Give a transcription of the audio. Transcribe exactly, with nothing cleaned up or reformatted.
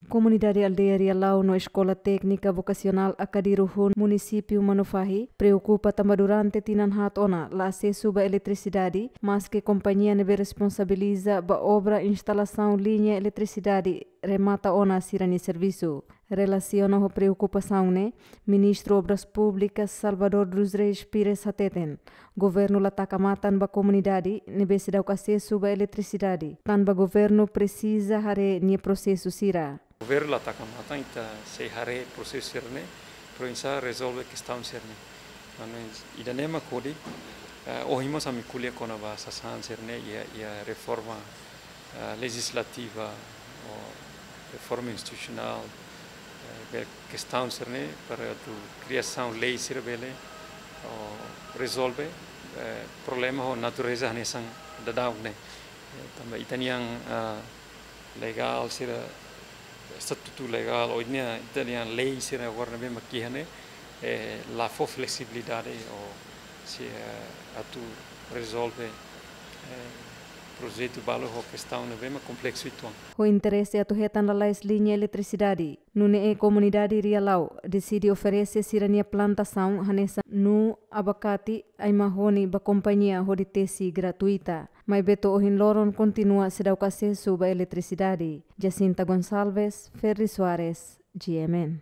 Komunidade aldeia Rialau no Eskola Téknika Vokasionál Akadiru-hun, Munisípiu Manufahi, preokupa tanba durante tinan haat ona la asesu ba eletrisidade, maske kompañia ne'ebé responsabiliza ba obra instalasaun liña eletrisidade remata ona sira-nia servisu. Relasiona ho preokupasaun ne'e, Ministru Obras Públikas Salvador dos Reis Pires hateten, governu la taka matan ba komunidade ne'ebé seidauk asesu ba eletrisidade, tanba governu presiza haree nia prosesu sira. Governu la taka matan, ita sei haree prosesu sira-ne'e, para oinsá rezolve kestaun sira-ne'e. Maibé ida-ne'e mak hodi, eh, ohin mós ami ko'alia kona-ba sasán sira-ne'e, iha, iha reforma, eh, lejizlativa, ou reforma institusionál, eh, be kestaun sira-ne'e, para atu kriasaun lei sira bele, ou rezolve, eh, problema ho natureza hanesan daudaun ne'e. Eh, tanba ita-nian, ah, legál sira, estatutu legál, ou ita-nia, ita-nian lei sira agora ne'ebé mak iha ne'e, eh, la fó fleksibilidade ou sei, eh, atu rezolve, eh, projetu balu ho kestaun ne'ebé mak kompleksu uitoan. Ho interese atu hetan lalais liña eletrisidade, nune'e komunidade Rialau deside oferese sira-nia plantasaun hanesan nuu, abakate, ai-mahoni ba kompañia hodi tesi gratuita. Maibé to'o ohin loron kontinua seidauk asesu ba eletrisidade. Jacinta Gonçalves, Ferri Soares, G M N.